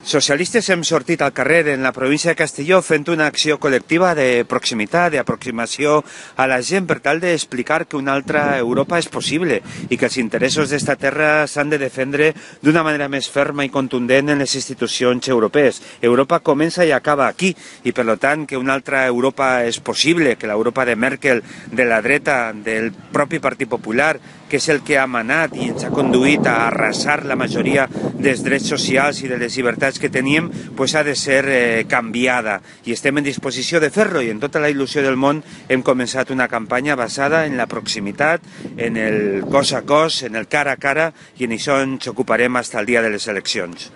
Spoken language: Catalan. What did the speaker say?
Socialistes hem sortit al carrer en la província de Castelló fent una acció col·lectiva de proximitat, d'aproximació a la gent per tal d'explicar que una altra Europa és possible i que els interessos d'esta terra s'han de defendre d'una manera més ferma i contundent en les institucions europees. Europa comença i acaba aquí i per tant que una altra Europa és possible, que l'Europa de Merkel, de la dreta, del propi Partit Popular, que és el que ha manat i ens ha conduït a arrasar la majoria dels drets socials i de les llibertats que teníem, pues ha de ser canviada. I estem en disposició de fer-lo i en tota la il·lusió del món hem començat una campanya basada en la proximitat, en el cos a cos, en el cara a cara i en això ens ocuparem fins al dia de les eleccions.